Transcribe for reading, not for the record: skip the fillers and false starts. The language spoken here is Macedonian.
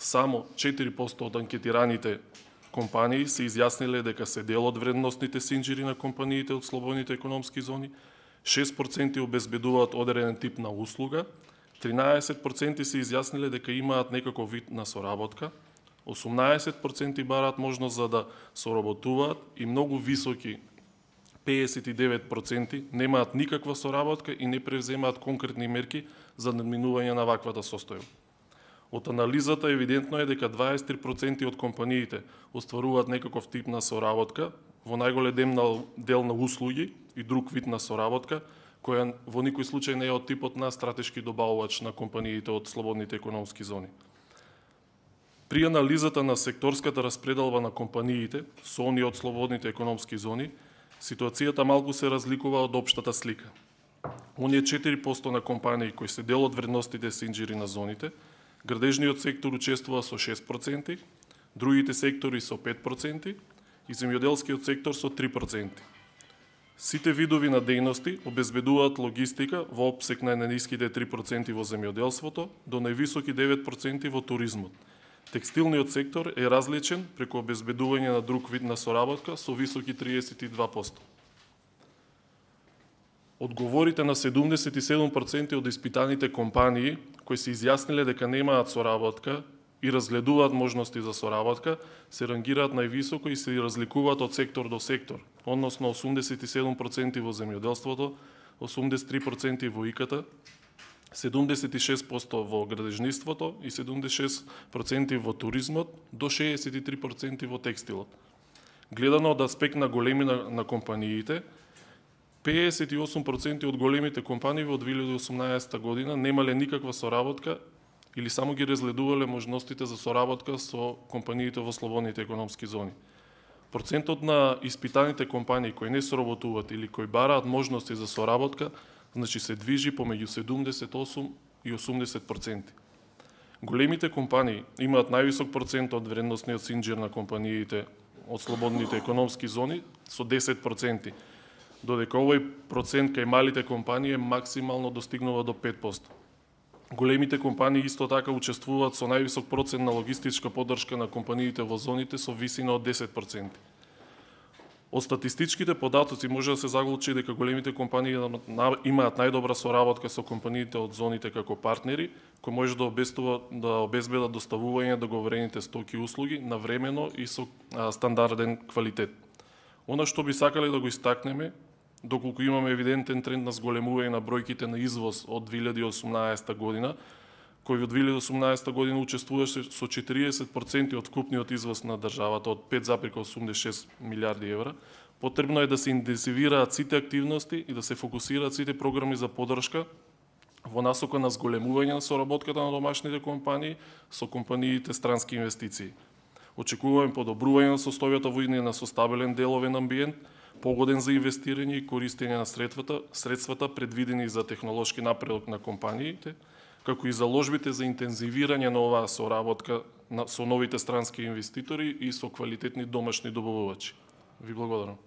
само 4% од анкетираните компании се изјасниле дека се дел од вредностните синџири на компаниите од слободните економски зони, 6% обезбедуваат одреден тип на услуга, 13% се изјасниле дека имаат некаков вид на соработка, 18% бараат можност за да соработуваат и многу високи 59% немаат никаква соработка и не превземаат конкретни мерки за надминување на ваквата состојба. Од анализата евидентно е дека 23% од компаниите остваруваат некаков тип на соработка, во најголем дел на услуги и друг вид на соработка, која во никој случај не е од типот на стратешки добавувач на компаниите од слободните економски зони. При анализата на секторската распределба на компаниите со оние од слободните економски зони, ситуацијата малку се разликува од општата слика. Оние 4% на компании кои се дел од вредностите синџири на зоните, градежниот сектор учествува со 6%, другите сектори со 5% и земјоделскиот сектор со 3%. Сите видови на дејности обезбедуваат логистика во опсек на најниските 3% во земјоделството до највисоки 9% во туризмот. Текстилниот сектор е различен преку обезбедување на друг вид на соработка со високи 32%. Одговорите на 77% од испитаните компании кои се изјасниле дека немаат соработка и разгледуваат можности за соработка, се рангираат највисоко и се разликуваат од сектор до сектор, односно 87% во земјоделството, 83% во ИКТ, 76% во градежниството и 76% во туризмот, до 63% во текстилот. Гледано од аспект на големина на компаниите, 58% од големите компании во 2018 година немале никаква соработка или само ги разгледувале можностите за соработка со компаниите во слободните економски зони. Процентот на испитаните компании кои не соработуваат или кои бараат можности за соработка, значи се движи помеѓу 78 и 80%. Големите компании имаат највисок процент од вредносниот синџир на компаниите од слободните економски зони со 10%, додека овој процент кај малите компании максимално достигнува до 5%. Големите компании исто така учествуваат со највисок процент на логистичка поддршка на компаниите во зоните со висина од 10%. Од статистичките податоци може да се заклучи дека големите компании имаат најдобра соработка со компаниите од зоните како партнери, кои може да обезбедат доставување договорените стоки и услуги навремено и со стандарден квалитет. Она што би сакале да го истакнеме, доколку имаме евидентен тренд на зголемување на бројките на извоз од 2018 година, кој од 2018 година учествуваше со 40% од вкупниот извоз на државата од 5,86 милиарди евра, потребно е да се интензивираат сите активности и да се фокусираат сите програми за поддршка во насока на зголемување на соработката на домашните компании со компаниите странски инвестиции. Очекуваме подобрување на состојбата во иднина со стабилен деловен амбиент, погоден за инвестирање и користење на средствата предвидени за технолошки напредок на компаниите, како и заложбите за интензивирање на оваа соработка со новите странски инвеститори и со квалитетни домашни добавувачи. Ви благодарам.